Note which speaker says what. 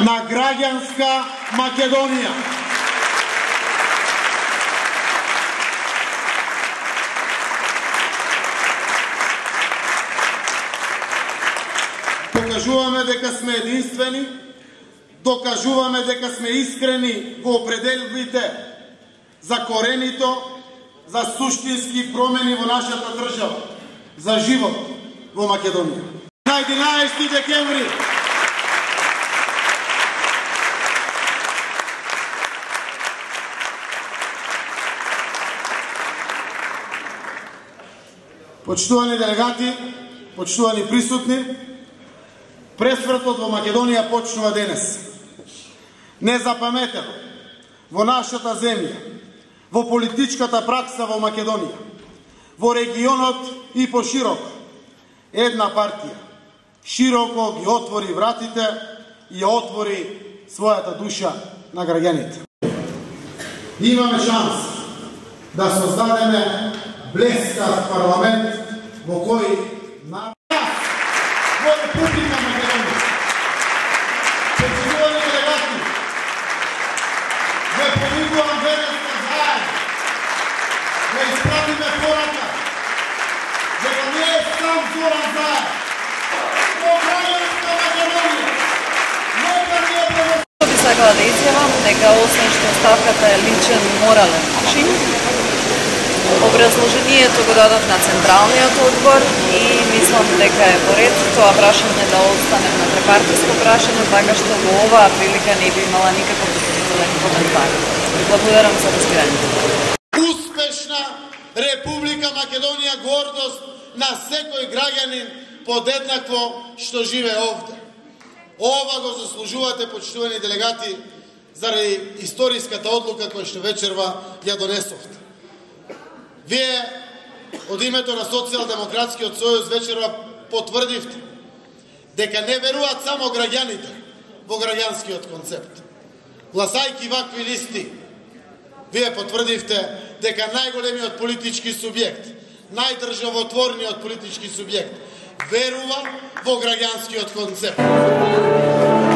Speaker 1: на граѓанска Македонија. Покажуваме дека сме единствени, докажуваме дека сме искрени во определбите за коренито, за суштински промени во нашата држава, за живот во Македонија. На 11 декември почитувани делегати, почитувани присутни, пресвртот во Македонија почнува денес. Незапаметено во нашата земја, во политичката пракса во Македонија, во регионот и пошироко, една партија широко ги отвори вратите и отвори својата душа на граѓаните. Имаме шанс да создадеме блескав парламент во кој на во Република Македонија. Почитувани делегати, ве повикувам денеска заедно да испратиме порака дека не е сам Зоран Заев. Во граѓанска Македонија нека ни е превод.
Speaker 2: Би сакала да изјавам дека освен што ставката е личен морален чин, образложението го дадов на Централниот одбор и мислам дека е по ред тоа прашање да остане на трепартиско прашање, така што во оваа прилика не би имала никаков допълнителен коментар. Благодарам за разбирањето.
Speaker 1: Успешна Република Македонија, гордост на секој граѓанин подеднакво што живее овде. Ова го заслужувате, почитувани делегати, заради историската одлука која што вечерва ја донесовте. Вие од името на Социјалдемократскиот сојуз вечерва потврдивте дека не веруваат само граѓаните во граѓанскиот концепт. Гласајќи вакви листи, вие потврдивте дека најголемиот политички субјект, најдржавотворниот политички субјект верува во граѓанскиот концепт.